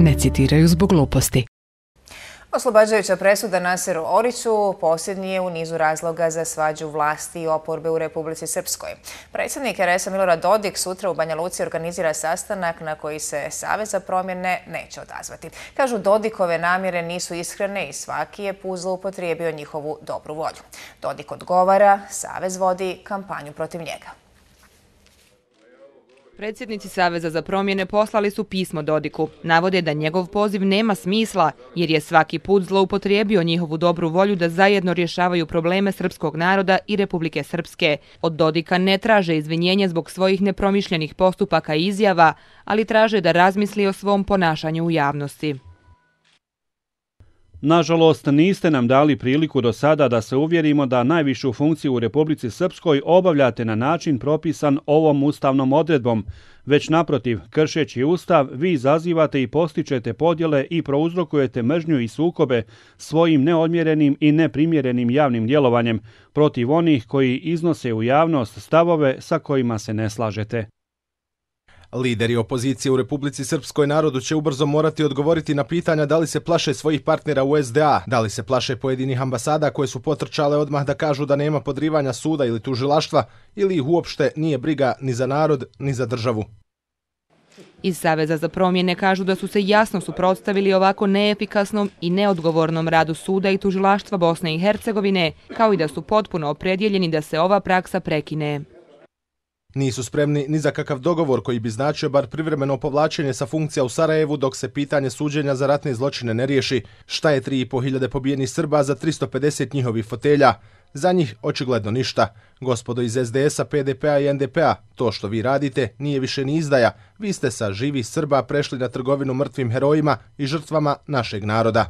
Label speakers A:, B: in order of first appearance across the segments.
A: ne citiraju zbog gluposti.
B: Oslobađajuća presuda Naseru Oriću posljednji je u nizu razloga za svađu vlasti i oporbe u Republici Srpskoj. Predsjednik RS Milorad Dodik sutra u Banja Luci organizira sastanak na koji se Savez za promjene neće odazvati. Kažu Dodikove namjere nisu iskrene i svaki je put zloupotrijebio njihovu dobru volju. Dodik odgovara, Savez vodi kampanju protiv njega.
C: Predsjednici Saveza za promjene poslali su pismo Dodiku. Navode da njegov poziv nema smisla jer je svaki put zloupotrijebio njihovu dobru volju da zajedno rješavaju probleme srpskog naroda i Republike Srpske. Od Dodika ne traže izvinjenje zbog svojih nepromišljenih postupaka i izjava, ali traže da razmisli o svom ponašanju u javnosti.
D: Nažalost, niste nam dali priliku do sada da se uvjerimo da najvišu funkciju u Republici Srpskoj obavljate na način propisan ovom ustavnom odredbom, već naprotiv, kršeći ustav, vi izazivate i postičete podjele i prouzrokujete mržnju i sukobe svojim neodmjerenim i neprimjerenim javnim djelovanjem protiv onih koji iznose u javnost stavove sa kojima se ne slažete.
E: Lideri opozicije u Republici Srpskoj narodu će ubrzo morati odgovoriti na pitanja da li se plaše svojih partnera u SDA, da li se plaše pojedinih ambasada koje su potrčale odmah da kažu da nema podrivanja suda ili tužilaštva ili ih uopšte nije briga ni za narod ni za državu.
C: Iz Saveza za promjene kažu da su se jasno suprotstavili ovako neefikasnom i neodgovornom radu suda i tužilaštva Bosne i Hercegovine, kao i da su potpuno opredjeljeni da se ova praksa prekine.
E: Nisu spremni ni za kakav dogovor koji bi značio bar privremeno povlačenje sa funkcija u Sarajevu dok se pitanje suđenja za ratne zločine ne riješi. Šta je 3.500 pobijenih Srba za 350 njihovih fotelja? Za njih očigledno ništa. Gospodo iz SDS-a, PDP-a i NDP-a, to što vi radite nije više ni izdaja. Vi ste sa živih Srba prešli na trgovinu mrtvim herojima i žrtvama našeg naroda.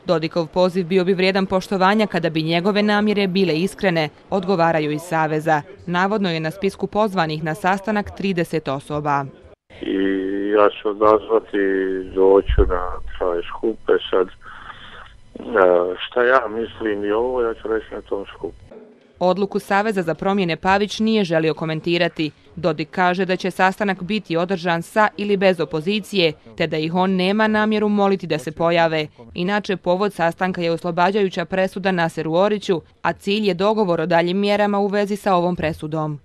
C: Dodikov poziv bio bi vrijedan poštovanja kada bi njegove namjere bile iskrene, odgovaraju iz Saveza. Navodno je na spisku pozvanih na sastanak 30 osoba.
F: I ja ću odazvati, doću na taj skupe sad. Šta ja mislim i ovo, ja ću reći na tom skupu.
C: Odluku Saveza za promjene Pavić nije želio komentirati. Dodik kaže da će sastanak biti održan sa ili bez opozicije, te da ih on nema namjeru moliti da se pojave. Inače, povod sastanka je oslobađajuća presuda Naseru Oriću, a cilj je dogovor o daljim mjerama u vezi sa ovom presudom.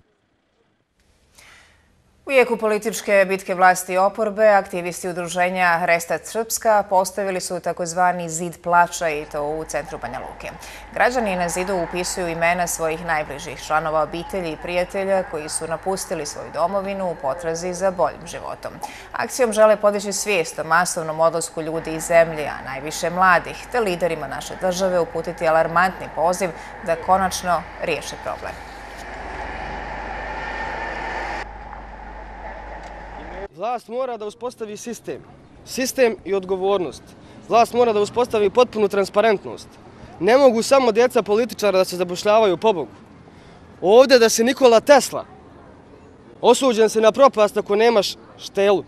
B: U jeku političke bitke vlasti i oporbe, aktivisti udruženja Restart Srpska postavili su takozvani zid plača i to u centru Banja Luke. Građani na zidu upisuju imena svojih najbližih članova obitelji i prijatelja koji su napustili svoju domovinu u potrazi za boljim životom. Akcijom žele podići svijest o masovnom odlasku ljudi iz zemlje, a najviše mladih, te liderima naše države uputiti alarmantni poziv da konačno riješe problem.
G: Vlast mora da uspostavi sistem i odgovornost. Vlast mora da uspostavi potpunu transparentnost. Ne mogu samo djeca političara da se zapošljavaju pobogu. Ovdje da se Nikola Tesla osuđen se na propast ako nemaš štelu.